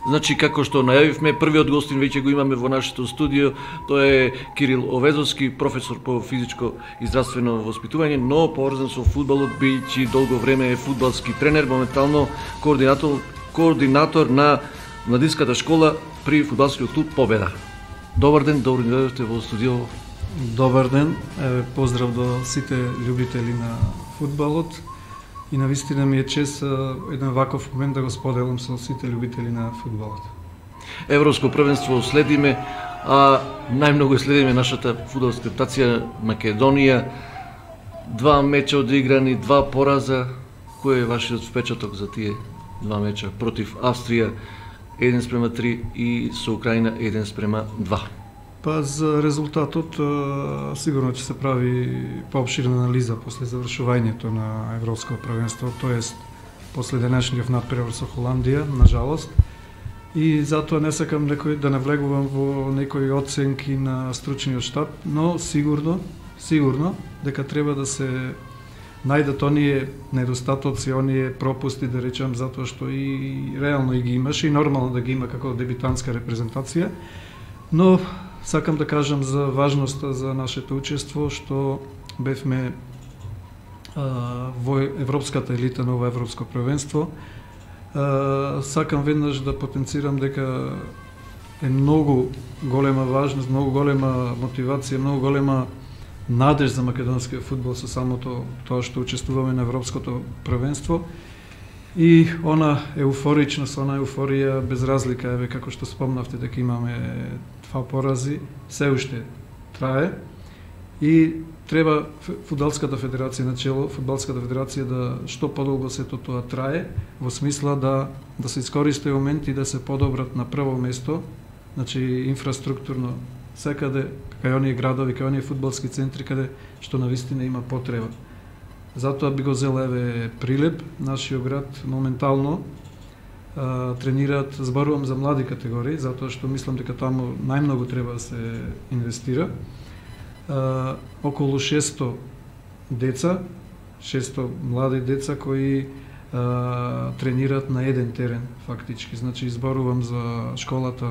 Значи, како што најавивме, првиот гостин веќе го имаме во нашето студио, тоа е Кирил Овезовски, професор по физичко и здравствено воспитување, но поврзан со фудбалот, бидејќи долго време е фудбалски тренер, моментално координатор на младинската школа при фудбалскиот клуб Победа. Добар ден, добро дојдовте во студио. Добар ден, поздрав до сите љубители на фудбалот. И навистина ми е чест еден ваков момент да го споделам со сите љубители на фудбалот. Европско првенство следиме, а најмногу следиме нашата фудбалска нација Македонија. 2 меча одиграни, 2 пораза. Кој е вашиот впечаток за тие 2 меча против Австрија 1:3 и со Украина 1:2? Па за резултатот сигурно ќе се прави поопширна анализа после завршувањето на Европско првенство, тоест после денешниот натпревар со Холандија, нажалост. И затоа не сакам да навлегувам во некои оценки на стручниот штаб, но сигурно дека треба да се најдат оние недостатоци, оние пропусти, да речам, затоа што и реално и ги имаше и нормално да ги има како дебитантска репрезентација, но сакам да кажам за важноста за нашето учество, што бевме во европската елита на ова европско првенство. Сакам веднаш да потенцирам дека е многу голема важност, многу голема мотивација, многу голема надеж за македонскиот фудбал со самото тоа што учествуваме на европското првенство. И она еуфоричност, она еуфорија без разлика, еве како што спомнавте дека имаме 2 порази, се уште трае и треба фудбалската федерација начело, фудбалската федерација да што подолго сето тоа трае, во смисла да се искористи момент и да се подобрат на прво место, значи инфраструктурно секаде, кај оние градови, кај оние фудбалски центри каде што навистина има потреба. Затоа би го зел еве Прилеп, нашиот град моментално тренираат, зборувам за млади категории, затоа што мислам дека таму најмногу треба да се инвестира. Околу 600 деца, 600 млади деца кои тренираат на еден терен фактички. Значи зборувам за школата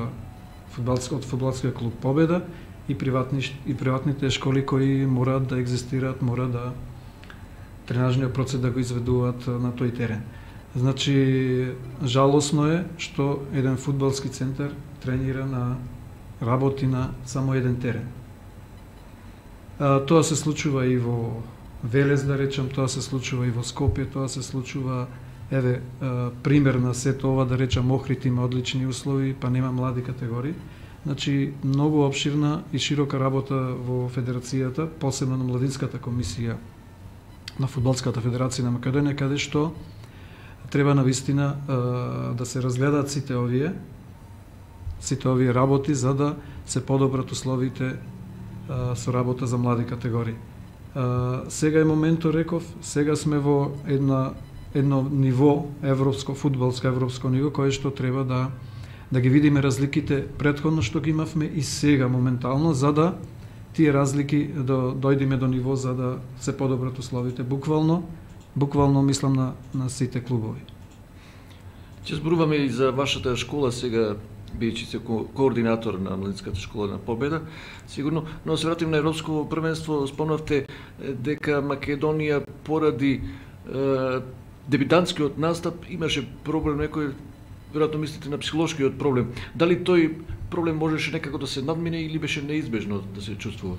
од фудбалскиот клуб Победа и приватните школи кои мораат да екзистираат, мора да тренажниот процес да го изведуваат на тој терен. Значи, жалосно е што еден фудбалски центар тренира работи на само еден терен. Тоа се случува и во Велес, да речам, тоа се случува и во Скопје, тоа се случува, еве, пример на сето ова, да речам, Охрид има одлични услови, па нема млади категории. Значи, многу обширна и широка работа во федерацијата, посебно на младинската комисија на Фудбалската федерација на Македонија, каде што треба навистина да се разгледаат сите овие работи за да се подобрат условите со работа за млади категории. Сега е моментот, реков, сега сме во едно ниво фудбалско европско ниво, кое што треба да ги видиме разликите претходно што ги имавме и сега моментално, за да тие разлики дојдеме до ниво за да се подобрат условите. Буквално мислам на сите клубови. Ќе зборуваме и за вашата школа сега, бидејќи се координатор на младинската школа на Победа, сигурно, но се вратим на Европско првенство, спомнавте дека Македонија поради дебитантскиот настап имаше проблем некој, веројатно мислите на психолошкиот проблем. Дали тој проблем можеше некако да се надмине или беше неизбежно да се чувствува?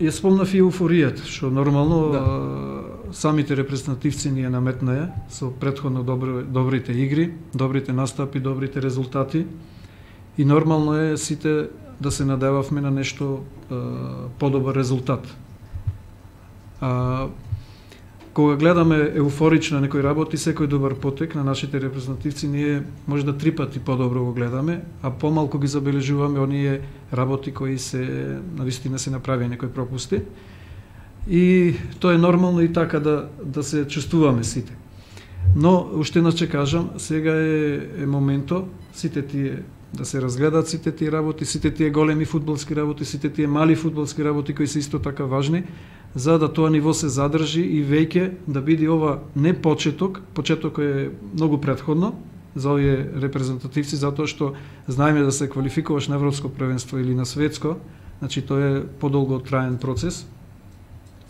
Ја спомнав и еуфоријата, што нормално самите репрезентативци ни ја наметнаа со претходно добрите игри, добрите настапи, добрите резултати и нормално е сите да се надевавме на нешто подобар резултат. Кога гледаме еуфорично некои работи, секој добар потек на нашите репрезентативци, ние може да 3 пати подобро го гледаме, а помалку ги забележуваме оние работи кои се навистина се направи некои пропусти. И тоа е нормално и така да се чувствуваме сите. Но уште еднаш ќе кажам, сега е моментот сите тие да се разгледаат сите тие работи, сите тие големи фудбалски работи, сите тие мали фудбалски работи кои се исто така важни, за да тоа ниво се задржи и веќе да биде ова не почеток е многу претходно, за овие репрезентативци, затоа што знаеме да се квалификуваш на европско првенство или на светско, значи тоа е подолго траен процес.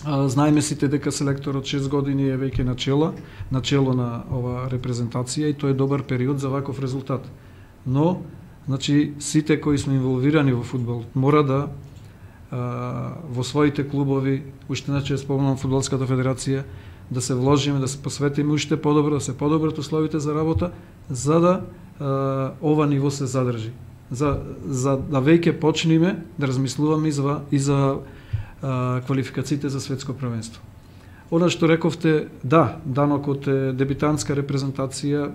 Знаеме сите дека селекторот 6 години е веќе начело на ова репрезентација и тоа е добар период за ваков резултат. Но, значи, сите кои сме инволвирани во фудбал мора да во своите клубови, уште иначе спомнам Фудбалската федерација, да се вложиме, да се посветиме уште подобро, да се подобрат условите за работа, за да ова ниво се задржи. За да веќе почнеме да размислуваме и за квалификациите за светско првенство. Она што рековте, да, данокот е дебитантска репрезентација,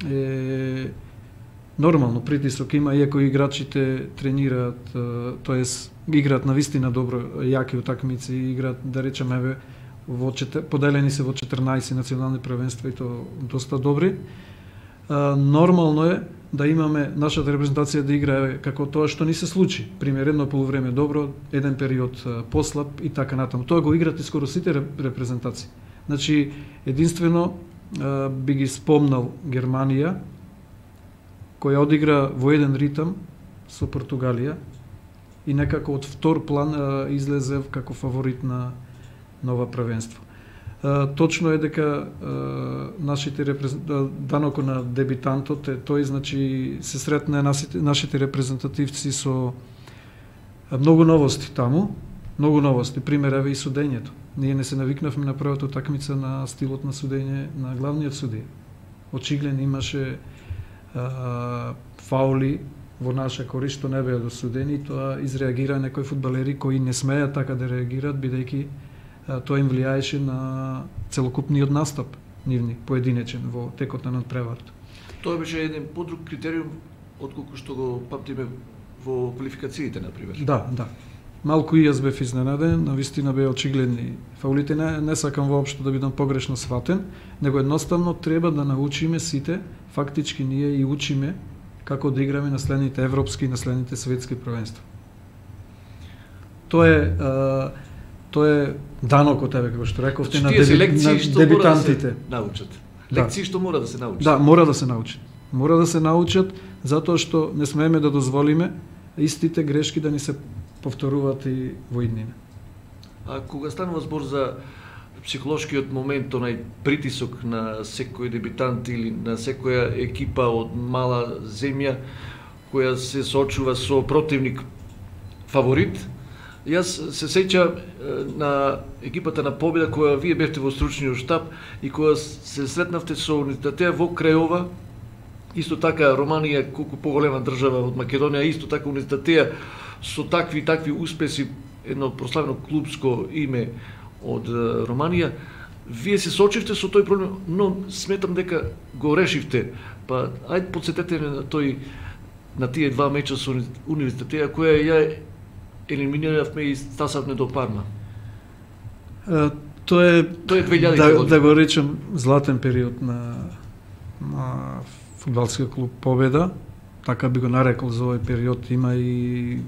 е нормално притисок има, иако играчите тренираат, тоест играат навистина добро, јаки утакмици, играат, да речеме, поделени се во 14 национални првенства и то доста добри. Нормално е да имаме нашата репрезентација да играе како тоа што ни се случи. Пример, едно полувреме добро, еден период послаб и така натаму. Тоа го играте скоро сите репрезентации. Значи, единствено би ги спомнал Германија, која одигра во еден ритам со Португалија и некако од втор план излезе како фаворит на ова првенство. Точно е дека нашите данокот на дебитантот е тој, значи се сретне нашите репрезентативци со многу новости таму, многу новости, пример еве и судењето. Ние не се навикнавме на првата утакмица на стилот на судење на главниот судија. Очигледно имаше фаули во наша корист што не беа досудени, тоа изреагира некои фудбалери кои не смеат така да реагираат, бидејќи тоа им влијаеше на целокупниот настап нивни, поединечен во текот на надпреварата. Тоа беше еден подруг критериум отколку што го памтиме во квалификациите, например. Да. Малку и јас бев изненаден, навистина беа очигледни фаулите, не сакам воопшто да бидам погрешно сватен, него едноставно треба да научиме сите, фактички ние и учиме како да играме на следните европски и на следните светски првенства. Тоа е данокот, како што рековте, на дебитантите. Лекции што мора да се научат. Да, мора да се научат. Мора да се научат, затоа што не смееме да дозволиме истите грешки да ни се повторуваат и во иднина. А кога станува збор за психолошкиот момент, онај притисок на секој дебитант или на секоја екипа од мала земја која се соочува со противник фаворит, јас се сеќам на екипата на Победа која вие бевте во стручниот штаб и која се сретнавте со Универзитетот во Крајова, исто така Романија колку поголема држава од Македонија, исто така Универзитетот со такви успеси, едно прославено клубско име од Романија. Вие се соочивте со тој проблем, но сметам дека го решивте. Па ајде подсетете на тие два меча со Универзитетот која ја елиминиравме и стасавме до Парма. Тоа е 2000 да го речем златен период на фудбалскиот клуб Победа, така би го нарекол за овој период. Има и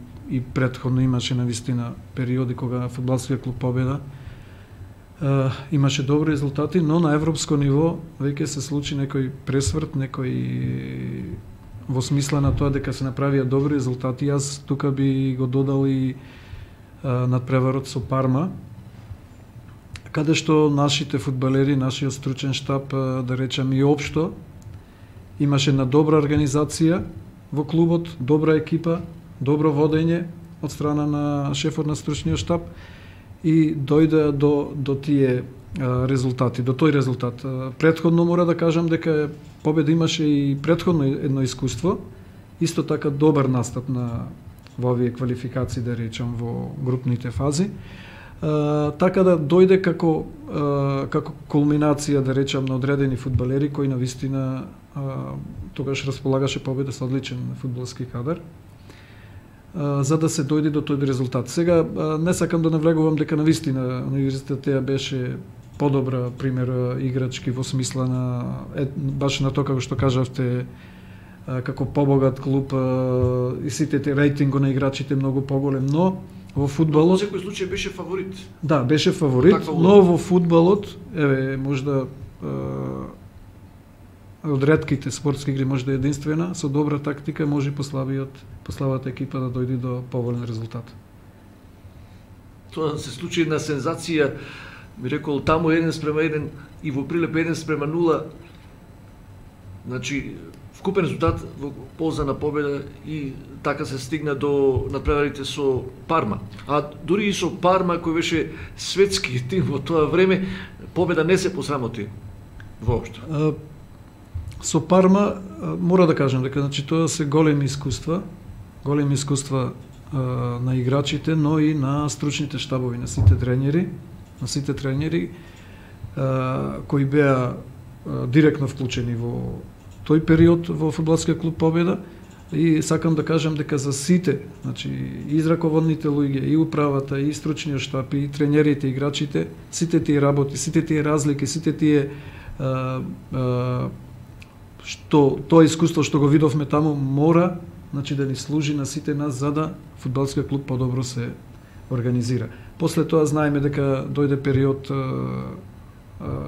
претходно имаше навистина периоди кога фудбалскиот клуб Победа имаше добри резултати, но на европско ниво веќе се случи некој пресврт, некој во смисла на тоа дека се направија добри резултати. Јас тука би го додал и надпреварот со Парма, каде што нашите фудбалери, нашиот стручен штаб, да речем и општо, имаше една добра организација во клубот, добра екипа, добро водење од страна на шефот на стручниот штаб и дојде до тие резултати, до тој резултат. Претходно мора да кажам дека Победа имаше и претходно едно искуство, исто така добар настап во овие квалификации, да речам, во групните фази. Така да дојде како кулминација, да речам, на одредени фудбалери кои навистина тогаш располагаше Победа со одличен фудбалски кадар, за да се дојде до тој резултат. Сега не сакам да навлегувам дека навистина Универзитетот беше подобра, пример, играчки во смисла на баш на тоа како што кажавте, како побогат клуб и сите рейтинго на играчите многу поголем, но во фудбалот во секој случај беше фаворит. Да, беше фаворит, но во фудбалот, еве, можда од ретките спортски игри, може да е единствена, со добра тактика може послабата екипа да дојде до поволен резултат. Тоа се случи една сензација, би рекол таму 1:1 и во Прилеп 1:0. Значи вкупен резултат во полза на победа и така се стигна до надпреварите со Парма. А дури и со Парма, кој беше светски тим во тоа време, победа не се посрамоти воопшто. Со Парма мора да кажам дека значи тоа се големи искуства на играчите, но и на стручните штабови, на сите тренери кои беа директно вклучени во тој период во фудбалскиот клуб Победа. И сакам да кажам дека за сите, значи и раководните луѓе, и управата, и стручниот штаб, и тренерите, и играчите, сите тие работи, сите тие разлики, сите тие тоа искуство што го видовме таму мора, значи да ни служи на сите нас за да фудбалскиот клуб подобро се организира. После тоа знаеме дека дојде период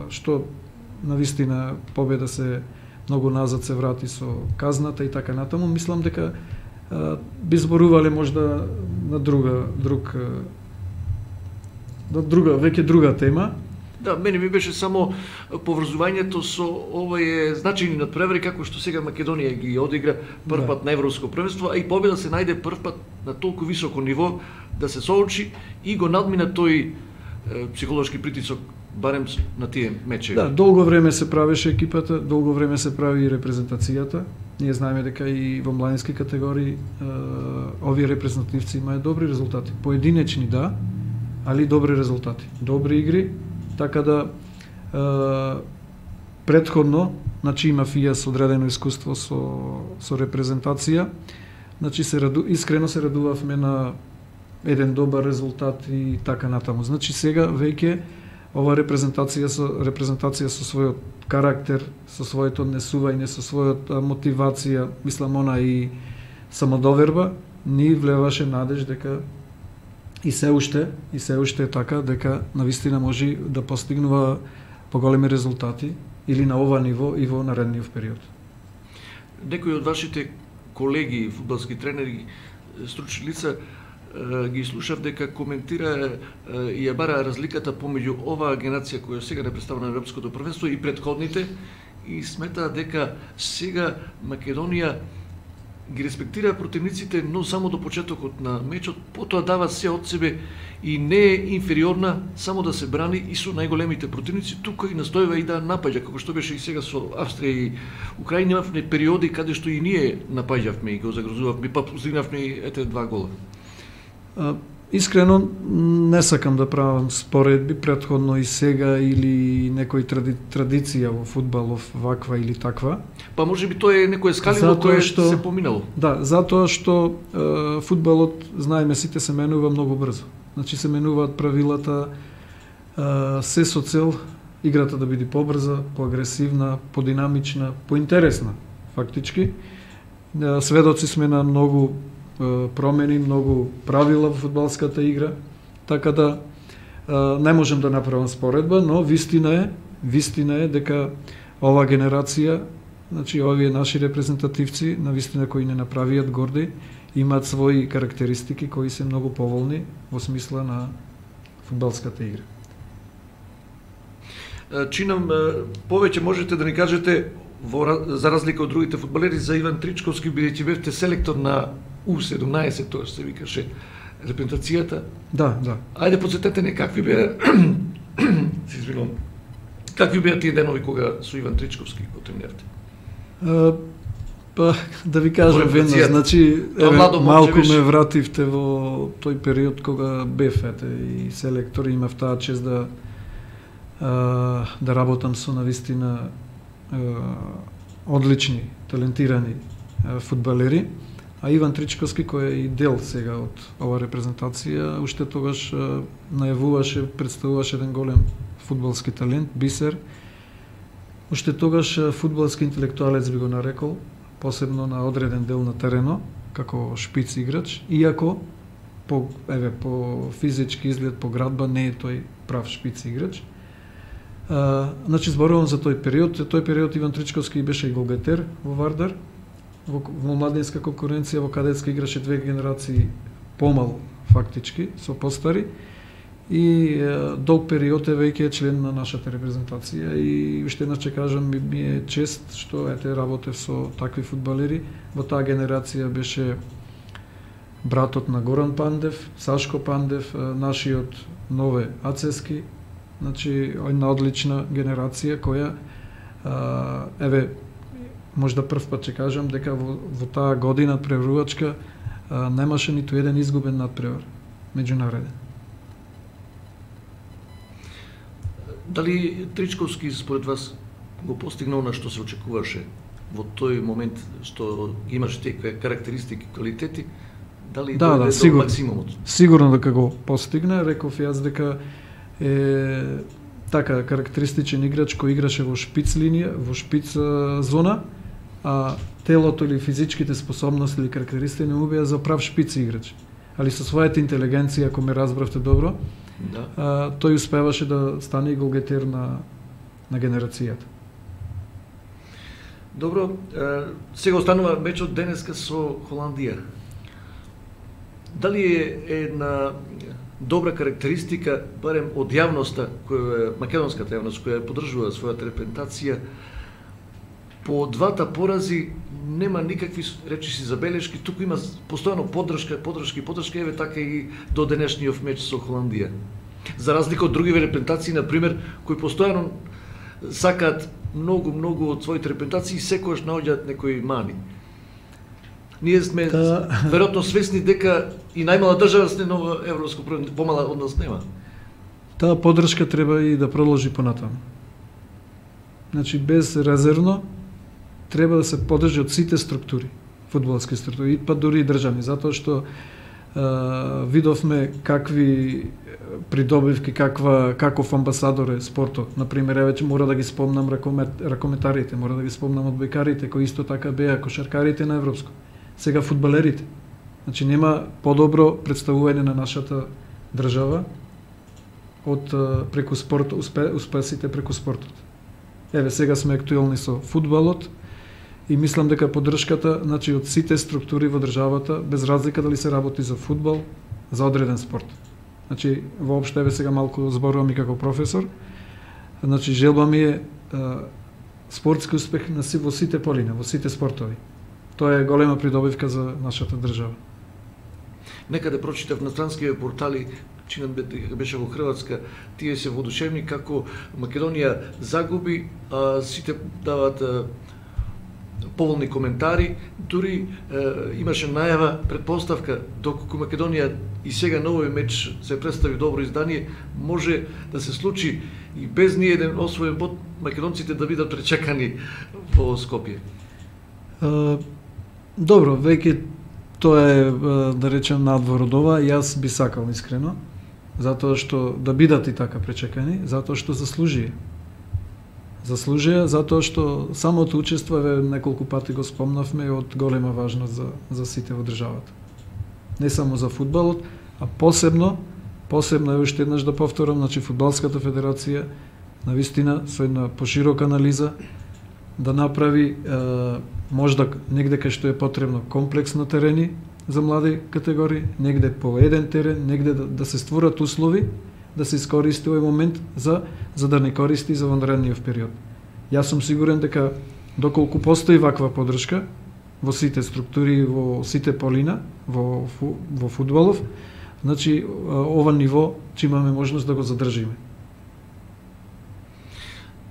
што навистина Победа се многу назад се врати со казната и така натаму. Мислам дека би зборувале можда на веќе друга тема. Да, мене ми беше само поврзувањето со овие значајни надпревари како што сега Македонија ги одигра прв пат на Европско првенство, а и Победа се најде прв пат на толку високо ниво да се соочи и го надмина тој психолошки притисок барем на тие мечеви. Да, долго време се правеше екипата, долго време се прави и репрезентацијата. Ние знаеме дека и во младински категории овие репрезентативци имаат добри резултати. Поединечни да, али добри резултати. Добри игри, така да претходно, значи има ФИАС одредено искуство со репрезентација. Значи искрено се радувавме на еден добар резултат и така натаму. Значи сега веќе ова репрезентација со својот карактер, со своето однесување, со својата мотивација, мислам она и самодоверба, ни влеваше надеж дека и се уште е така, дека навистина може да постигнува поголеми резултати или на ова ниво и во наредниот период. Некои од вашите колеги, фудбалски тренери, стручни лица, ги слушав дека коментира и ја бара разликата помеѓу оваа генерација која сега не представува на Европското првенство и претходните и смета дека сега Македонија ги респектира противниците, но само до почетокот на мечот, потоа дава се од себе и не е инфериорна само да се брани и со најголемите противници, тука и настојува и да напаѓа, како што беше и сега со Австрија и Украина, имавме периоди каде што и ние напаѓавме и го загрозувавме, па постигнавме и ете 2 гола. Искрено не сакам да правам споредби претходно и сега или некој традиција во фудбалов ваква или таква. Па може би тоа е некое скаливо кое се поминало. Да, затоа што фудбалот, знаеме сите, се менува многу брзо. Значи се менуваат правилата се со цел играта да биде побрза, поагресивна, подинамична, поинтересна фактички. Сведоци сме на многу промени, многу правила во фудбалската игра, така да не можем да направам споредба, но вистина е дека ова генерација, значи овие наши репрезентативци, навистина кои не направиат горди, имаат своји карактеристики кои се многу поволни во смисла на фудбалската игра. Чинам, повеќе можете да ни кажете за разлика од другите фудбалери за Иван Тричковски, бидејќи бевте селектор на U17, тоа се викаше репрезентацијата. Да. Ајде подсетете не какви беа какви беа тие денови кога со Иван Тричковски го тренирате? Па да ви кажам веднаш, значи малку ме вративте во тој период кога бев и селектор, имав таа чест да работам со навистина одлични, талентирани фудбалери, а Иван Тричковски, кој е и дел сега од ова репрезентација, уште тогаш најавуваше, представуваше еден голем фудбалски талент, бисер. Уште тогаш фудбалски интелектуалец би го нарекол, посебно на одреден дел на терено, како шпиц играч, иако по физички изглед, по градба не е тој прав шпиц играч. Значи зборувам за тој период. Тој период Иван Тричковски беше и голгетер во Вардар, во младинска конкуренција, во кадетска играше 2 генерации помал фактички, со постари, и долг период е веќе член на нашата репрезентација и уште еднаш ќе кажам, ми е чест што работев со такви фудбалери. Во таа генерација беше братот на Горан Пандев, Сашко Пандев, нашиот Нове Ацески, значи една одлична генерација која можда прв пат ќе кажам дека во таа година преврувачка немаше ниту еден изгубен надпревар меѓунареден. Дали Тричковски според вас го постигнал на што се очекуваше во тој момент што имаше тие карактеристики, квалитети? Дали дојде до максимумот? Сигурно дека го постигна, реков јас дека е така карактеристичен играч кој играше во шпиц линија, во шпиц зона, а телото или физичките способности или карактеристики не му беа за прав шпиц играч. Али со својата интелигенција, ако ме разбравте добро, тој успеваше да стане и голгетер на генерацијата. Добро, сега останува мечот денеска со Холандија. Дали е една добра карактеристика, барем од јавноста, македонската јавност, која поддржува својата репрезентација, по двата порази нема никакви речиси забелешки, туку има постојано поддршка, еве така и до денешниот меч со Холандија. За разлика од други репрезентации, на пример, кои постојано сакаат многу од своите репрезентации и секогаш наоѓаат некои мани. Ние сме веројатно свесни дека и најмала држава сме нова европско првенство, помала од нас нема. Таа поддршка треба и да продолжи понатаму. Значи безрезервно треба да се поддржи од сите структури, фудбалски структури, па дури и државни, затоа што видовме какви придобивки, каков амбасадор е спортот. Например, веќе мора да ги спомнам ракометарите, мора да ги спомнам одбојкарите, кои исто така беа кошаркарите на европско. Сега фудбалерите. Значи нема подобро представување на нашата држава од преку спорт, успесите преку спортот. Еве сега сме актуелни со фудбалот и мислам дека поддршката, значи од сите структури во државата, без разлика дали се работи за фудбал, за одреден спорт. Значи воопшто еве сега малку зборувам и како професор. Значи желба ми е спортски успех во сите полина, во сите спортови. Тоа е голема придобивка за нашата држава. Некаде прочитав на странските портали, чинат беше во Хрватска, тие се воодушевни како Македонија загуби, а сите даваат поволни коментари, дури имаше најава, предпоставка, доколку Македонија и сега на овој меч се представи добро издание, може да се случи и без ни еден освоен бод македонците да бидат пречекани во Скопје. Добро, веќе тоа е, да речем, надвор од ова, јас би сакал искрено, затоа што да бидат и така пречекани, затоа што заслужија. Заслужија, затоа што самото учество, неколку пати го спомнавме, од голема важност за сите во државата. Не само за фудбалот, а посебно е уште еднаш да повторам, значи Фудбалската федерација навистина со една поширока анализа да направи можда негде кај што е потребно комплекс на терени за млади категории, негде по еден терен, негде да се створат услови да се искористи овој момент за да не користи за вонредниот период. Јас сум сигурен дека доколку постои ваква поддршка во сите структури, во сите полина, во фудбалов, значи ова ниво ќе имаме можност да го задржиме.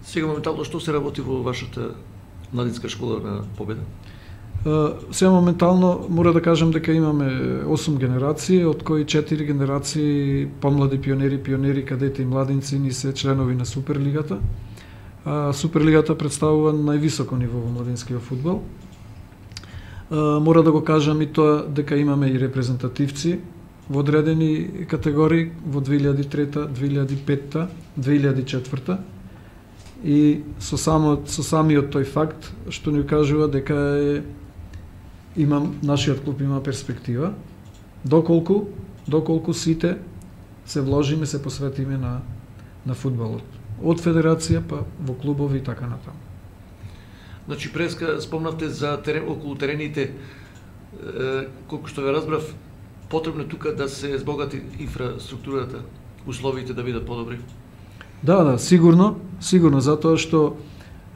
Сега моментално што се работи во вашата младинска школа на Победа? Сега моментално мора да кажам дека имаме 8 генерации, од кои 4 генерации помлади пионери, кадети и младинци ни се членови на Суперлигата. Суперлигата представува највисоко ниво во младинскиот фудбал. Мора да го кажам и тоа дека имаме и репрезентативци во одредени категории во 2003, 2005, 2004. И со самиот тој факт што ни кажува дека нашиот клуб има перспектива, доколку сите се вложиме, се посветиме на фудбалот. од федерација па во клубови и така натаму. Значи, преска спомнавте за околу терените, колку што ве разбрав, потребно тука да се збогати инфраструктурата, условите да бидат подобри? Да, сигурно, затоа што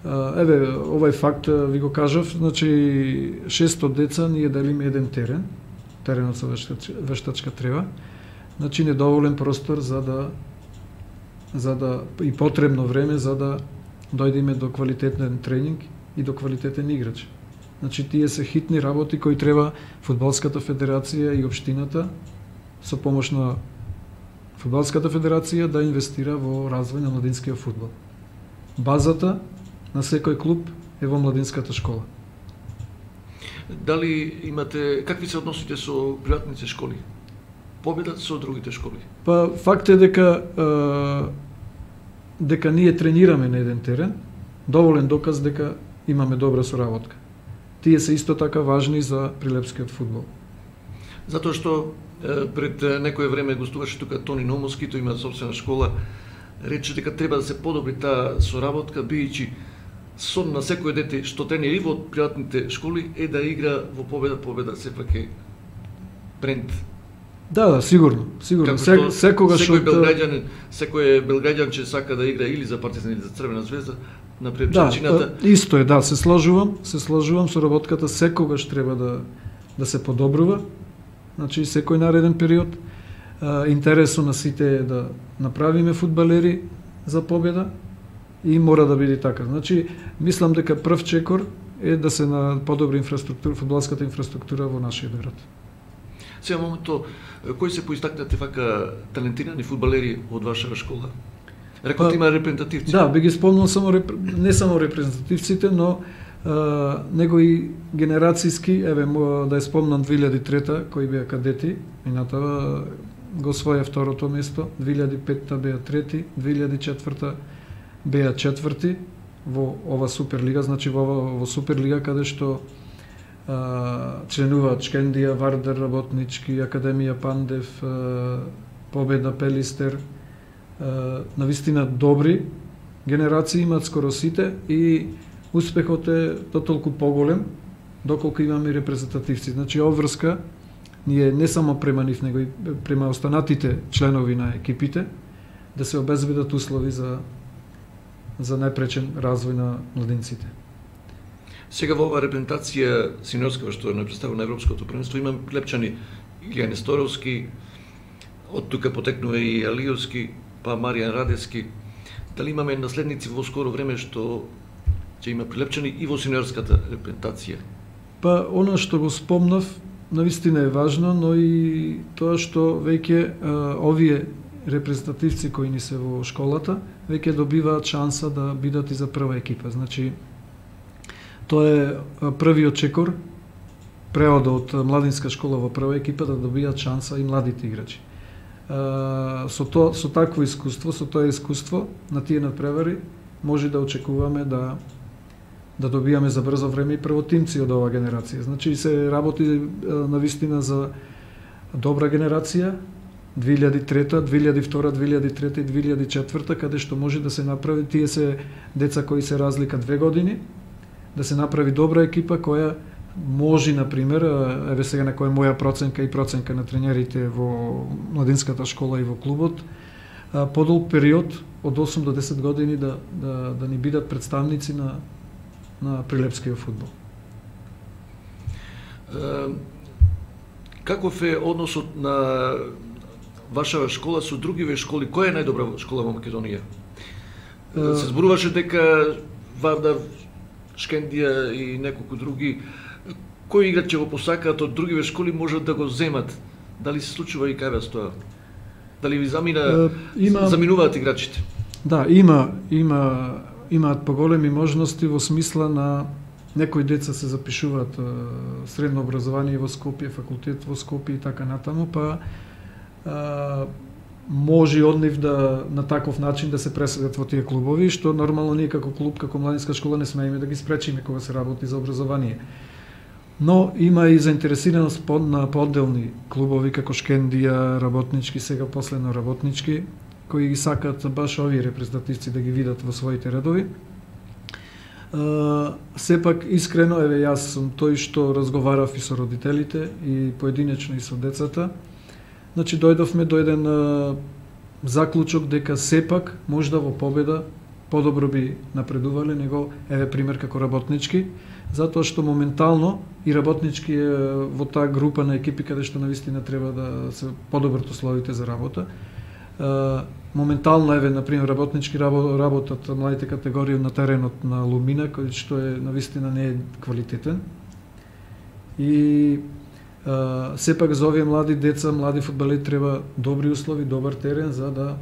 еве овој факт ви го кажав, значи 600 деца ние делиме еден теренот со вештачка трева, значи недоволен простор за да и потребно време за да дојдеме до квалитетен тренинг и до квалитетен играч. Значи тие се хитни работи кои треба Фудбалската федерација и општината со помош на Фудбалската федерација да инвестира во развој на младинскиот фудбал. Базата на секој клуб е во младинската школа. Дали имате, какви се односите со приватните школи? Победат со другите школи? Па факт е дека ние тренираме на еден терен, доволен доказ дека имаме добра соработка. Тие се исто така важни за прилепскиот фудбал. Затоа што пред некое време гостуваше тука Тони Номовски, тој има собствена школа, рече дека треба да се подобри таа соработка, бијќи сон на секој дете што тренира и во приватните школи е да игра во победа сепак е бренд. Да, сигурно. Секој белграѓан че сака да игра или за Партизан или за Црвена звезда, напред причината. Исто е, се сложувам, соработката секогаш треба да се подобрува. Значи секој нареден период интересот на сите е да направиме фудбалери за победа и мора да биде така. Значи мислам дека прв чекор е да се подобри фудбалската инфраструктура во нашиот град. Сега моментот, кои се поистакнати вака талентирани фудбалери од ваша школа? Рекот има репрезентативци. Да, би ги спомнал не само репрезентативците, но него и генерацијски, еве да ја спомнам 2003-та кои беа кадети, минатава го освоја второто место, 2005-та беа трети, 2004-та беа четврти во ова Суперлига, значи во Суперлига каде што членуваат Шкендија, Вардар, Работнички, Академија Пандев, Победа, Пелистер, навистина добри генерации имаат скоро сите и успехот е дотолку поголем доколку имаме репрезентативци. Значи обврска ние не само према нив, него и према останатите членови на екипите да се обезбедат услови за најпречен развој на младинците. Сега во ова репрезентација синьорска што е представена на Европското првенство имаме клепчани Илија Несторовски, од тука потекнува и Алиовски, па Маријан Радевски. Дали имаме наследници во скоро време што ќе има прилепчани и во синьорската репрезентација? Па она што го спомнав навистина е важно, но и тоа што веќе овие репрезентативци кои ни се во школата веќе добиваат шанса да бидат и за прва екипа. Значи тоа е првиот чекор, преодот од младинска школа во прва екипа да добијат шанса и младите играчи. Со такво искуство, со тоа искуство на тие надпревари може да очекуваме да добијаме за брзо време и првотимци од оваа генерација. Значи се работи навистина за добра генерација 2003, 2002, 2003 и 2004, каде што може да се направи, тие се деца кои се разлика 2 години, да се направи добра екипа која може, например, еве сега на која моја проценка и проценка на тренерите во младинската школа и во клубот, подолг период од 8 до 10 години да ни бидат представници на прилепскиот фудбал. Каков е односот на ваша школа со другиве школи? Која е најдобра школа во Македонија? Се зборуваше дека Вардар, Шкендија и неколку други, кои играч ќе го посакаат од другиве школи можат да го земат? Дали се случува и кај вас тоа? Дали ви заминуваат играчите? Да, имаат поголеми можности во смисла на некои деца се запишуваат средно образование во Скопје, факултет во Скопје и така натаму, па може од нив на таков начин да се преселат во тие клубови, што нормално ние како клуб, како младинска школа не смееме да ги спречиме кога се работи за образование. Но има и заинтересираност на поделни клубови како Шкендија, Работнички, сега последно Работнички, кои ги сакаат баш овие репрезентативци да ги видат во своите редови. Сепак искрено, еве јас сум тој што разговарав и со родителите и поединечно и со децата. Значи дојдовме до еден заклучок дека сепак можда во победа подобро би напредувале него, еве пример како Работнички, затоа што моментално и Работнички е во таа група на екипи каде што навистина треба да се подобрат условите за работа. Моментално еве на пример Работнички работат младите категории на теренот на Лумина, кој што е навистина не е квалитетен. И сепак за овие млади деца, млади фудбалери треба добри услови, добар терен за да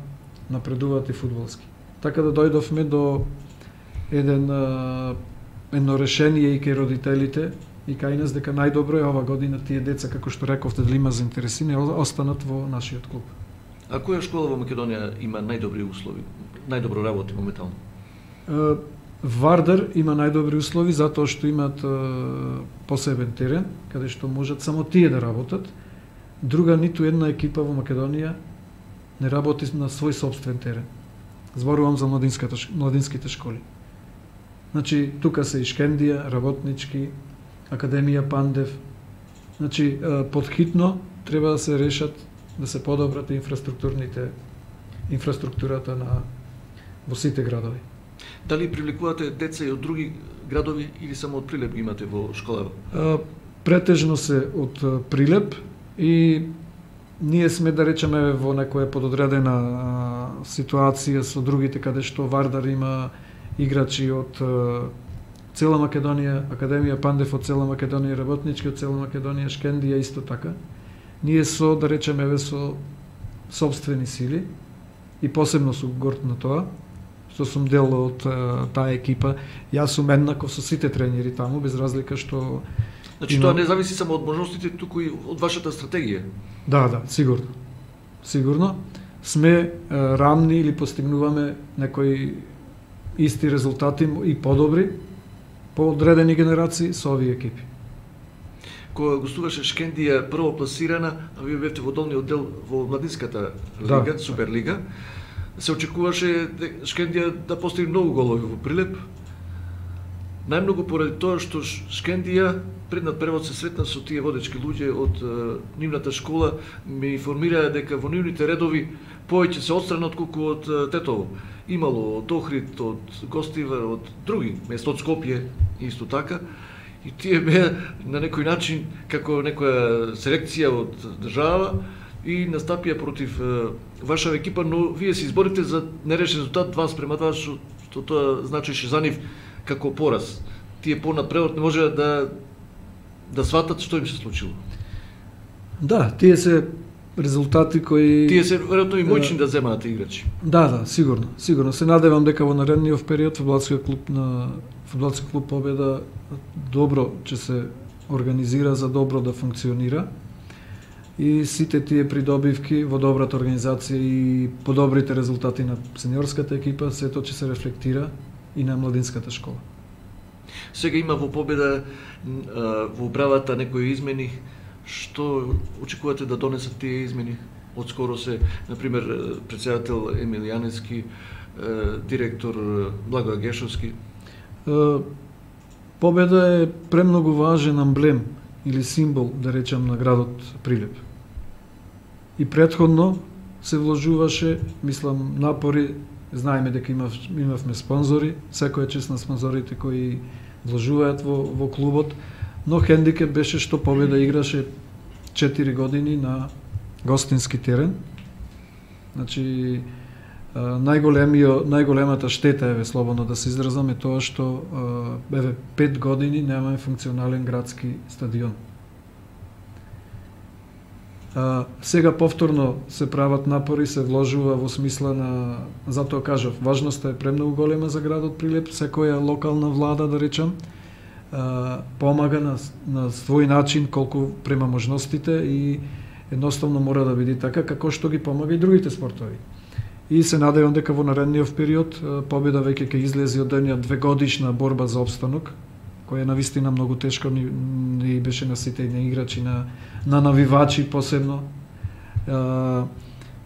напредуваат и фудбалски. Така да дојдовме до едно решение и кај родителите и кај нас дека најдобро е ова година тие деца, како што рековте, дали има заинтересирани, останат во нашиот клуб. А која школа во Македонија има најдобри услови, најдобро работи моментално? Вардар има најдобри услови затоа што имаат посебен терен, каде што можат само тие да работат. Друга ниту една екипа во Македонија не работи на свој собствен терен. Зборувам за младинските школи. Значи, тука се и Шкендија, Работнички, Академија Пандев. Значи, подхитно треба да се решат, да се подобрат инфраструктурата во сите градови. Дали привлекувате деца и од други градови или само од Прилеп ги имате во школава? Претежно се од Прилеп и ние сме, да речеме, во некоја пододредена ситуација со другите, каде што Вардар има играчи од цела Македонија, Академија Пандев од цела Македонија, Работнички од цела Македонија, Шкендија исто така. Ние со, да речеме, со собствени сили и посебно сум горд на тоа, што сум дел од таа екипа. Јас сум еднаков со сите тренери таму, без разлика што... Значи тоа не зависи само од можностите, туку и од вашата стратегија? Да, сигурно. Сигурно. Сме рамни или постигнуваме некои исти резултати и подобри по одредени генерации со овие екипи. Кога гостуваше Шкендија прво пласирана, а вие бевте во долниот дел во младинската лига, Суперлига, се очекуваше Шкендија да постигне многу голови во Прилеп. Најмногу поради тоа што Шкендија пред надпревод се сретна со тие водечки луѓе од нивната школа, ми информираа дека во нивните редови повеќе се отстрана отколку од Тетово. Имало од Охрид, од Гостивар, од други места, од Скопје исто така. И тие беа на некој начин како некоја селекција од држава и настапија против вашава екипа, но вие се изборите за нерешен резултат 2:2, што тоа значеше за нив како пораз. Тие понапред не можеа да сватат што им се случило. Да, тие се резултати кои... Тие се веројатно и моćни да земаат играчи. Да, сигурно. Сигурно. Се надевам дека во наредниот период фудбалскиот клуб Победа добро ќе се организира за добро да функционира. И сите тие придобивки во добрата организација и подобрите резултати на сениорската екипа, сето ќе се рефлектира и на младинската школа. Сега има во Победа во управата некои измени. Што очекувате да донесат тие измени? Отскоро се, например, председател Емил Јаневски, директор Благоја Гешовски. Победа е премногу важен амблем или символ, да речем, на градот Прилеп. И претходно се вложуваше, мислам, напори, знаеме дека имавме спонзори, секоја чест на спонзорите кои вложуваат во клубот, но хендикеп беше што Победа играше 4 години на гостински терен. Значи, најголемата штета, слободно да се изразам, е тоа што 5 години немаме функционален градски стадион. Сега повторно се прават напори, се вложува во смисла на, затоа кажав, важноста е премногу голема за градот Прилеп, секоја локална влада, да речам, помага на свој начин колку према можностите и едноставно мора да биде така како што ги помага и другите спортови. И се надевам дека во наредниот период Победа веќе ќе излезе од една 2-годишна борба за опстанок, која навистина многу тешко ни беше на сите играчи, на навивачи посебно.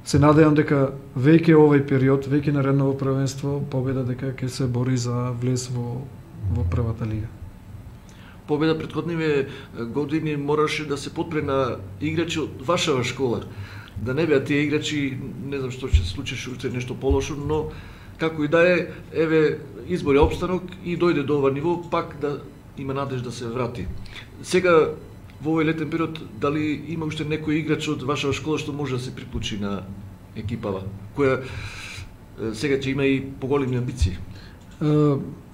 се надевам дека веќе овој период, веќе наредното првенство, Победа дека ќе се бори за влез во првата лига. Победа претходниве години мораше да се подпре на играчи од вашава школа. Да не беа тие играчи, не знам што ќе се случи, уште нешто полошо, но како и да е, еве избори опстанок и дојде до ова ниво, пак да има надеж да се врати. Сега во овој летен период, дали има уште некој играч од вашава школа што може да се приклучи на екипава, која сега ќе има и поголеми амбиции?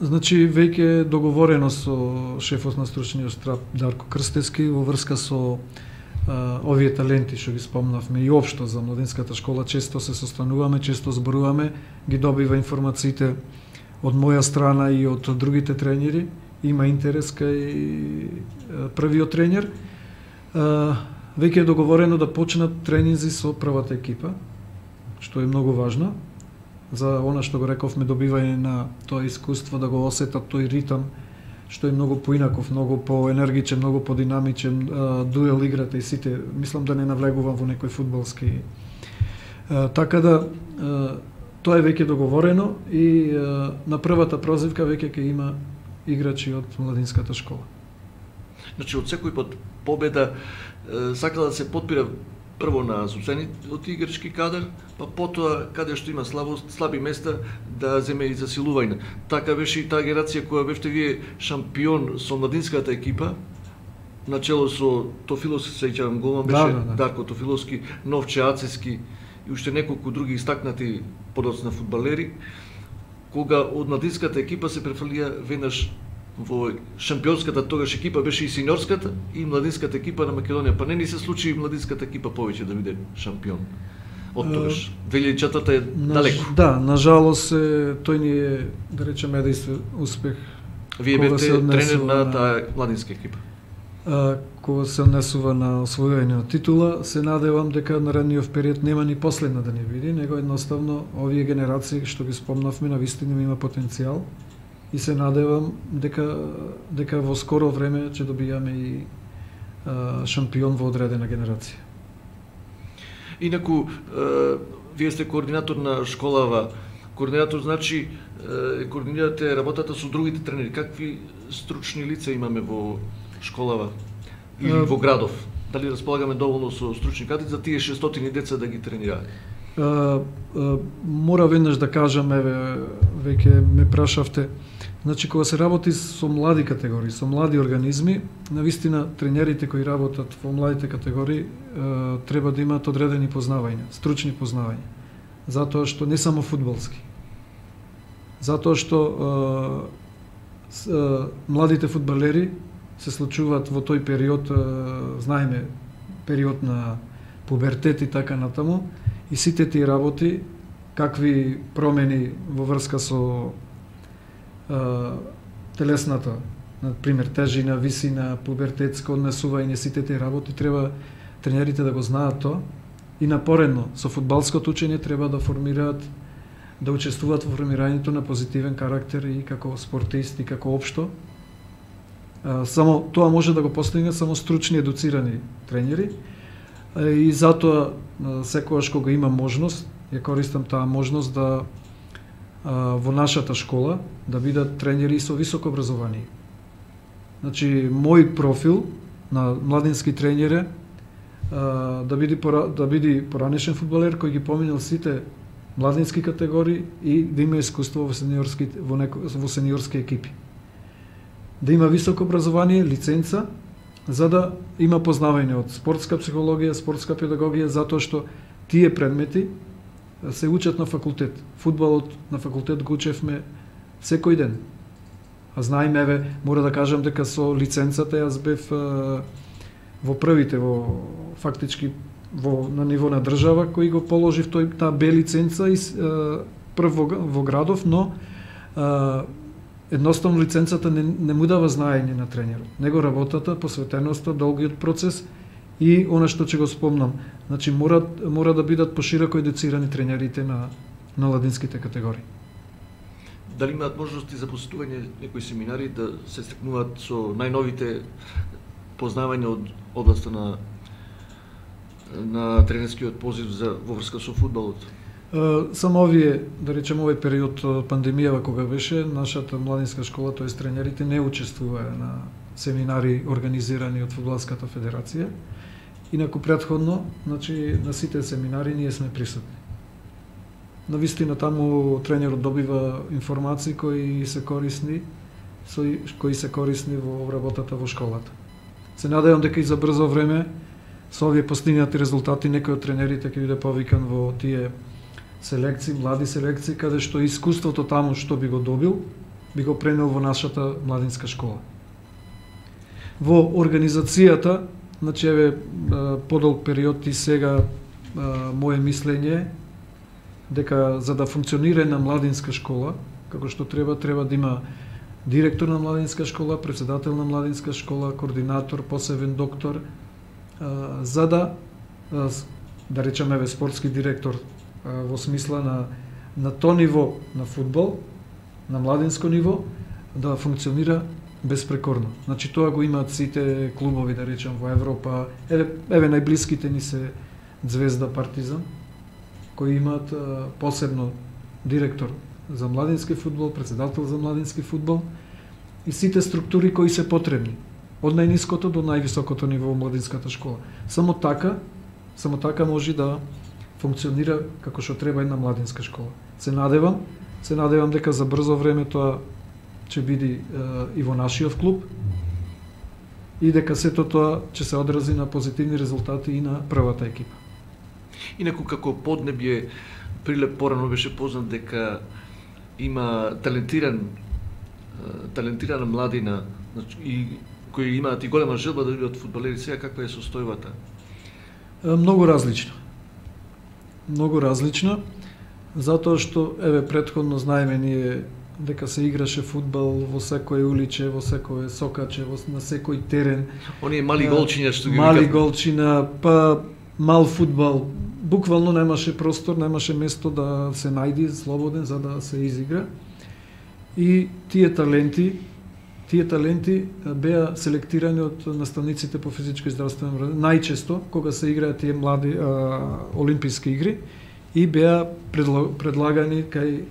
Значи, веќе договорено со шефот на стручниот штаб Дарко Крстевски во врска со овие таленти што ги спомнавме и општо за младинската школа, често се состануваме, често зборуваме, ги добива информациите од моја страна и од другите тренери, има интерес кај првиот тренер. Веќе е договорено да почнат тренинзи со првата екипа, што е многу важно, за она што го рековме, добивање на тоа искуство, да го осетат тој ритам, што е многу поинаков, многу поенергичен, многу подинамичен, дуел играта и сите, мислам да не навлегувам во некој фудбалски. Така да, тоа е веќе договорено и на првата прозивка веќе ќе има играчи од младинската школа. Значи, од секој пат Победа сакала да се подпира прво на собствениот играчки кадар, па потоа каде што има слаби места да земе и засилување. Така беше и таа генерација која бевте вие шампион со младинската екипа, начело со Тофиловски, се сеќавам, голман беше Дарко Тофиловски, Новче Ацески и уште неколку други истакнати подоцна фудбалери, кога од младинската екипа се префрлија веднаш во шампионската тогаш екипа, беше и сениорската и младинската екипа на Македонија. Па не ни се случи и младинската екипа повеќе да биде шампион од тогаш. 2004 е далеко. Да, на жалост тој ни е, да речеме, единствен успех. Вие бевте тренер на таа младинска екипа. Кога се однесува на освојување титула, се надевам дека наредниот период нема ни последна да ни види, него едноставно овие генерации што ги спомнавме навистина има потенцијал и се надевам дека во скоро време ќе добијаме и шампион во одредена генерација. Инаку, вие сте координатор на школава. Координатор значи координирате работата со другите тренери. Какви стручни лица имаме во школава или во градов? Дали располагаме доволно со стручни кадри за тие 600 деца да ги тренираат? Мора веднаш да кажам, еве, веќе ме прашавте. Значи, кога се работи со млади категории, со млади организми, навистина тренерите кои работат во младите категории треба да имаат одредени познавања, стручни познавања. Затоа што не само фудбалски. Затоа што младите фудбалери се случуваат во тој период, знаеме, период на пубертет и така натаму, и сите тие работи, какви промени во врска со телесната, например, тежина, висина, пубертетско однесување, сите тие работи треба тренерите да го знаат тоа и напоредно со фудбалското учење треба да формираат, да учествуваат во формирањето на позитивен карактер и како спортист и како општо. Само тоа може да го постигне само стручни едуцирани тренери и затоа секогаш кога има можност, ја користам таа можност да во нашата школа да бидат тренери со високо образование. Значи, мој профил на младински тренер да биде поранешен фудбалер кој ги поминал сите младински категории и да има искуство во сениорски екипи. Да има високо образование, лиценца, за да има познавање од спортска психологија, спортска педагогија, затоа што тие предмети се учат на факултет. Фудбалот на факултет го учевме секој ден. А знаеме, еве, мора да кажам дека со лиценцата јас бев во првите, фактички на ниво на држава, кој го положив таа Б лиценца и прв во градов, но едноставно лиценцата не му дава знаење на тренерот. Него работата, посветеноста, долгиот процес и она што ќе го спомнам. Значи, мора да бидат пошироко едуцирани тренерите на младинските категории. Дали имаат можности за посетување некои семинари да се стекнуваат со најновите познавања од областа на на тренерскиот позив во врска со фудбалот? Само овие, да речем, овој период пандемијава кога беше, нашата младинска школа, тоест тренерите, не учествуваа на семинари организирани од Фудбалската федерација. Инаку претходно, значи, на сите семинари ние сме присутни. Навистина таму тренерот добива информации кои се корисни во обработата во школата. Се надевам дека и за брзо време со овие постигнати резултати некој од тренерите ќе биде повикан во тие селекции, млади селекции, каде што искуството таму што би го добил, би го пренел во нашата младинска школа. Во организацијата, значи еве подолг период и сега мое мислење дека за да функционира една младинска школа, како што треба да има директор на младинска школа, претседател на младинска школа, координатор, посебен доктор, за да речеме еве спортски директор во смисла на то ниво на фудбал, на младинско ниво, да функционира безпрекорно. Значи тоа го имаат сите клубови, да речем, во Европа. Еве најблиските ни се Звезда, Партизан, кои имаат посебно директор за младински фудбал, претседател за младински фудбал и сите структури кои се потребни, од најниското до највисокото ниво во младинската школа. Само така може да функционира како што треба една младинска школа. Се надевам дека за брзо време тоа ќе биде и во нашиот клуб и дека сето тоа ќе се одрази на позитивни резултати и на првата екипа. Инаку како поднебје, Прилеп порано беше познат дека има талентирана младина и кои имаат и голема желба да бидат фудбалери. Сега каква е состојбата? Многу различна, затоа што еве претходно знаеме ние дека се играше фудбал во секој уличе, во секој сокаче, на секој терен. Оние мали голчиња што ги мали голчина, па мал фудбал. Буквално немаше простор, немаше место да се најди слободен за да се изигра. И тие таленти беа селектирани од наставниците по физичко и здравствено образование, најчесто кога се играат тие млади олимписки игри, и беа предлагани кај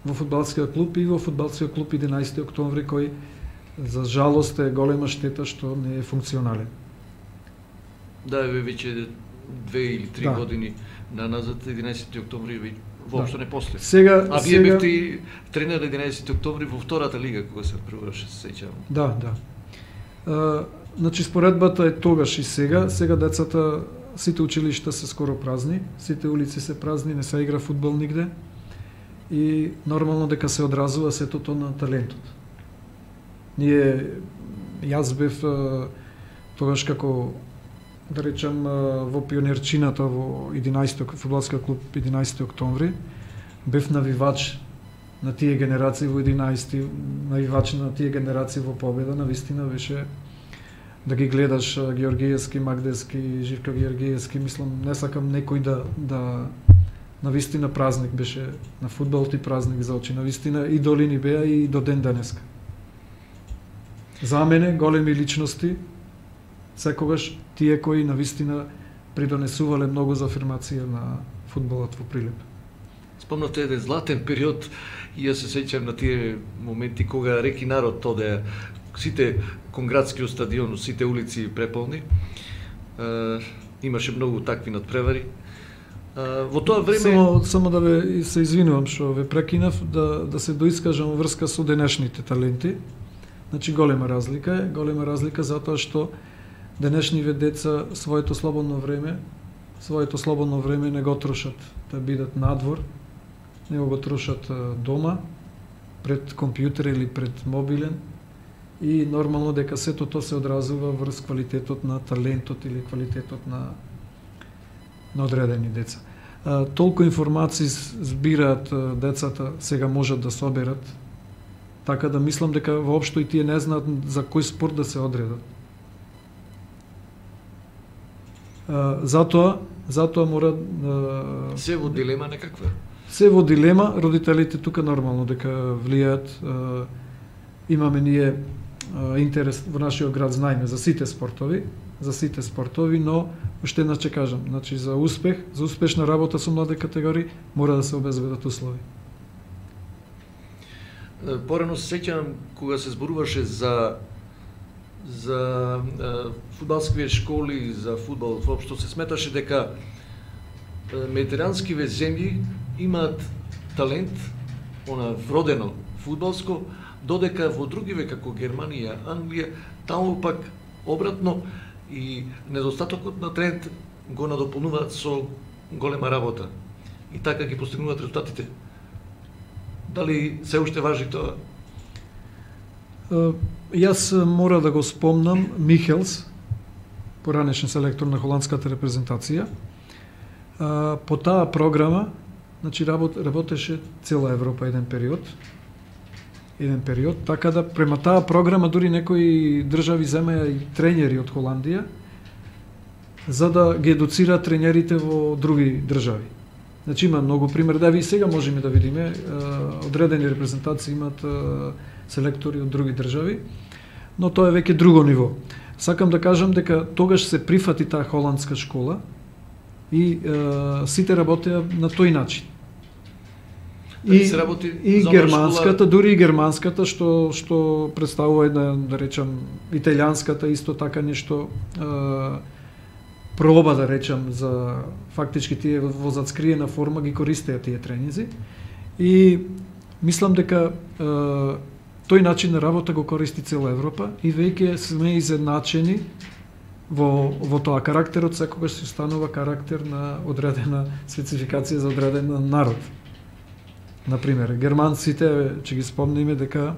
во фудбалскиот клуб и во фудбалскиот клуб 11 октомври, кој за жалост е голема штета што не е функционален. Да, веќе 2 или 3 години назад 11 октомври воопшто не после. Сега вие бевте тренер 11 октомври во втората лига кога се превраше, се сеќавам. Да. Значи споредбата е тогаш и сега. Сега децата, сите училишта се скоро празни, сите улици се празни, не се игра фудбал нигде. И нормално дека се одразува сетото на талентот. Јас бев тогаш како, да речем, во пионерчината во 11 фудбалскиот клуб 11 октомври, бев навивач на тие генерации во 11, навивач на тие генерации во победа. Навистина беше да ги гледаш Георгиевски, Магдевски, Живко Георгиевски, мислам, не сакам некој да навистина празник беше на фудбалот и празник за очи. Навистина идоли ни беа и до ден денеска. За мене големи личности секогаш тие кои навистина придонесувале многу за афирмација на фудбалот во Прилеп. Спомнавте еден златен период и јас се сеќам на тие моменти кога реки народ одеа сите кон градскиот стадион, сите улици преполни. Имаше многу такви надпревари. Во тоа време само да се извинувам што ве прекинав, да се доискажам врска со денешните таленти. Значи голема разлика затоа што денешниве деца своето слободно време не го трошат да бидат надвор, не го трошат дома, пред компјутер или пред мобилен, и нормално дека сето тоа се одразува врз квалитетот на талентот или квалитетот на одредени деца. Толку информации збираат децата, сега можат да соберат, така да мислам дека воопшто и тие не знаат за кој спорт да се одредат. Затоа мора се во дилема некаква. Се во дилема, родителите тука нормално дека влијаат. Имаме ние интерес во нашиот град, знаеме за сите спортови, но уште еднаш ќе кажам, значи за успешна работа со млади категории мора да се обезбедат услови. Порано се сеќавам кога се зборуваше за фудбалските школи, за фудбал воопшто, се сметаше дека медитеранскиве земји имаат талент, она вродено фудбалско, додека во другиве како Германија, Англија, таму пак обратно и недостатокот на талент го надополнуваат со голема работа. И така ги постигнуваат резултатите. Дали се уште важи тоа? Јас мора да го спомнам Михелс, поранешен селектор на холандската репрезентација. По таа програма, значи работеше цела Европа еден период, така да према таа програма дури некои држави земеа и тренери од Холандија за да ги едуцираат тренерите во други држави. Значи има многу примери, да ви сега можеме да видиме, одредени репрезентации имаат селектори од други држави, но тоа е веќе друго ниво. Сакам да кажам дека тогаш се прифати таа холандска школа и сите работеа на тој начин. И германската, дури и германската, што представува една, да речам, италијанската исто така нешто проба, да речам, за фактички тие во зацкриена форма ги користеа тие тренинзи. И мислам дека тој начин на работа го користи цела Европа и веќе сме изедначени во тоа. Карактерот секогаш се останува карактер на одредена спецификација за одреден народ. Например, германците, че ги спомниме дека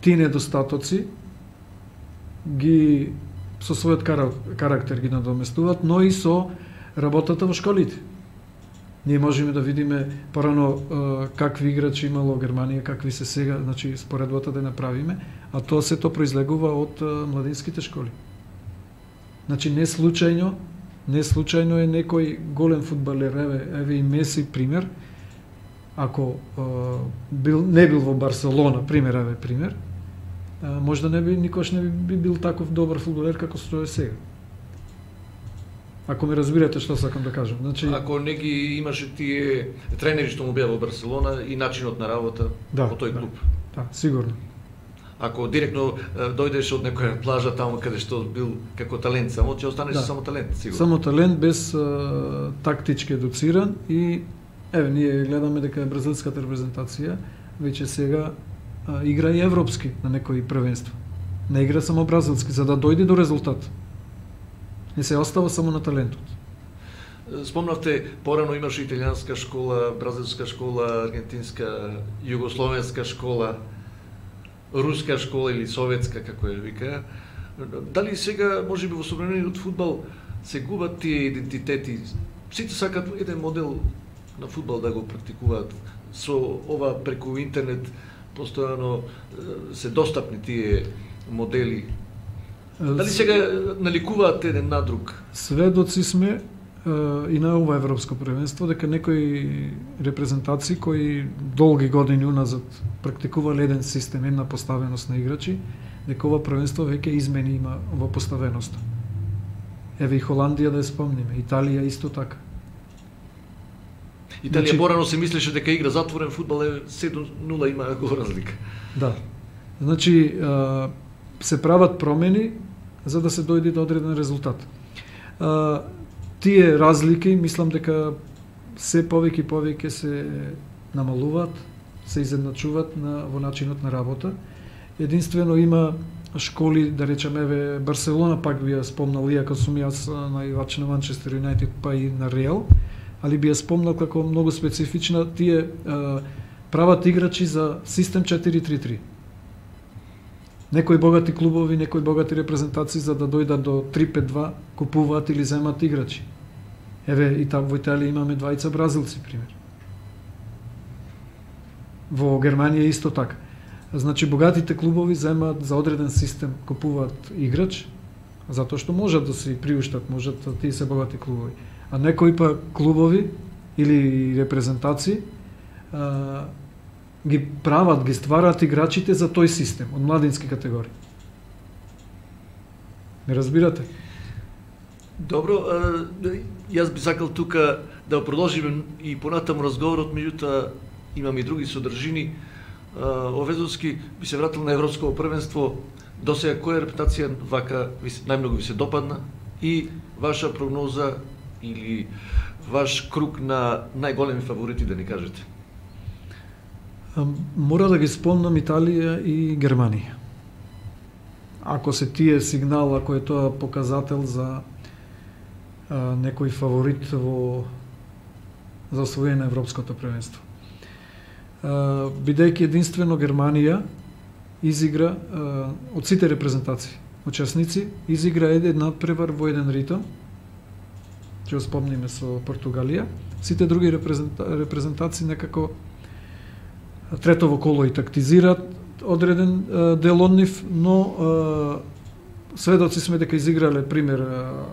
тие недостатоци ги со својот карактер ги надоместуваат, но и со работата во школите. Ние можеме да видиме порано какви играчи имало Германија, какви се сега, значи споредбата да направиме, а тоа сето произлегува од младинските школи. Значи не случајно е некој голем фудбалер, еве и Меси пример, ако не бил во Барселона, пример, можда никош не би бил таков добар фудбалер како што е сега. Ако ме разбирате што сакам да кажам. Значи, ако не ги имаше тие тренери што му беа во Барселона и начинот на работа во тој клуб. Да, сигурно. Ако директно дојдеш од некоја плажа таму каде што бил како талент, само ќе останеш само талент, сигурно. Само талент без тактички едуциран и еве ние гледаме дека бразилската репрезентација веќе сега игра и европски на некои првенства. Не игра само бразилски за да дојде до резултат. Не се остава само на талентот. Спомнавте, порано имаше италијанска школа, бразилска школа, аргентинска, југословенска школа, руска школа или советска, како ја вика. Дали сега, можеби во современиот фудбал, се губат тие идентитети? Сите сакат еден модел на фудбал да го практикуваат. Со ова преку интернет постојано се достапни тие модели. Дали сега наликуваат еден на друг? Сведоци сме и на ова европско првенство дека некои репрезентации кои долги години уназад практикувале еден систем, една поставеност на играчи, дека ова првенство веќе измени има во поставеноста. Еве и Холандија да ја спомниме, Италија исто така. Италија порано се мислеше дека игра затворен фудбал, 7-0 има го разлика. Да. Значи се прават промени за да се дојде до одреден резултат. Тие разлики, мислам дека се повеќе се намалуваат, се изедначуваат во начинот на работа. Единствено има школи, да речеме, еве Барселона пак би ја спомнал, иако сум јас наивач на Манчестер Юнайтед па и на Реал, али би ја спомнал како многу специфична, тие прават играчи за систем 4-3-3. Некои богати клубови, некои богати репрезентации за да дојдат до 3-5-2 купуваат или земат играчи. Еве и таму во Италија имаме двајца бразилци пример. Во Германија исто така. Значи богатите клубови земаат за одреден систем, купуваат играч затоа што можат да си приуштат, можат тие се богати клубови. А некои па клубови или репрезентации ги прават, ги стварат играчите за тој систем од младински категории. Ме разбирате? Добро, јас би сакал тука да продолжиме и понатаму разговорот, меѓутоа имам и други содржини. Овезовски би се вратил на Европско првенство. Досега која репутација вака најмногу ви се допадна и ваша прогноза или ваш круг на најголеми фаворити, да ни кажете? Мора да ги спомнам Италија и Германија. Ако се тие сигнал, ако е тоа показател за некој фаворит за освоење на Европското првенство. Бидејќи единствено Германија изигра од сите репрезентации, учесници, изигра еден надпревар во еден ритм, ќе го спомниме со Португалија. Сите други репрезентации некако третово коло и тактизираат одреден дел од нив, но сведоци сме дека изиграле пример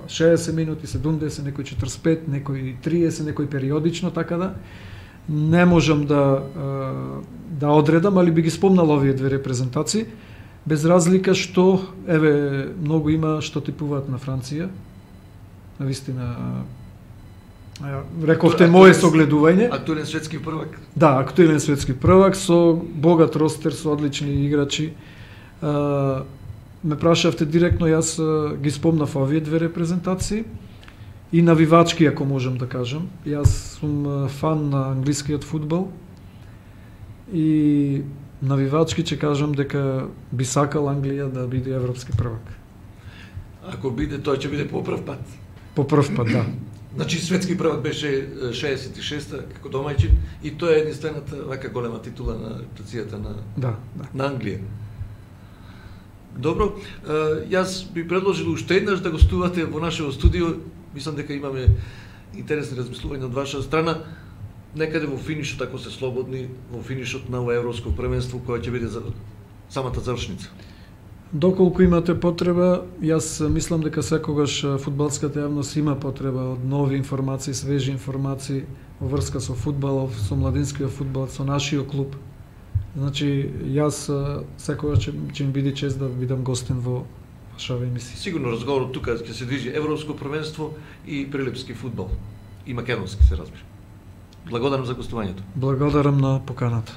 60 минути, 70, некои 45, некои 30, некои периодично, така да не можам да одредам, али би ги спомнал овие две репрезентации, без разлика што, еве, многу има што типуваат на Франција, навистина, рековте мое согледување. Актуелен светски првак. Да, актуелен светски првак со богат ростер, со одлични играчи. Ме прашавте директно, јас ги спомнав овие две репрезентации и навивачки, ако можам да кажам. Јас сум фан на англискиот фудбал и навивачки ќе кажам дека би сакал Англија да биде европски првак. Ако биде, тој ќе биде по прв пат. По прв пат, да. Значи светски првак беше 66-та како домаќин и тоа е единствената вака голема титула на репутацијата на Англија. Добро, јас би предложил уште еднаш да гостувате во нашето студио. Мислам дека имаме интересни размислувања од ваша страна. Некаде во финишот, ако се слободни, во финишот на ова европско првенство, која ќе биде за самата завршница. Доколку имате потреба, јас мислам дека секогаш фудбалската јавност има потреба од нови информации, свежи информации во врска со фудбалов, со младинскиот фудбал, со нашиот клуб. Значи, јас секогаш ќе ми биде чест да бидам гостин во вашава емисија. Сигурно разговорот тука ќе се движи европско првенство и прилепски фудбал. И македонски, се разбира. Благодарам за гостувањето. Благодарам на поканата.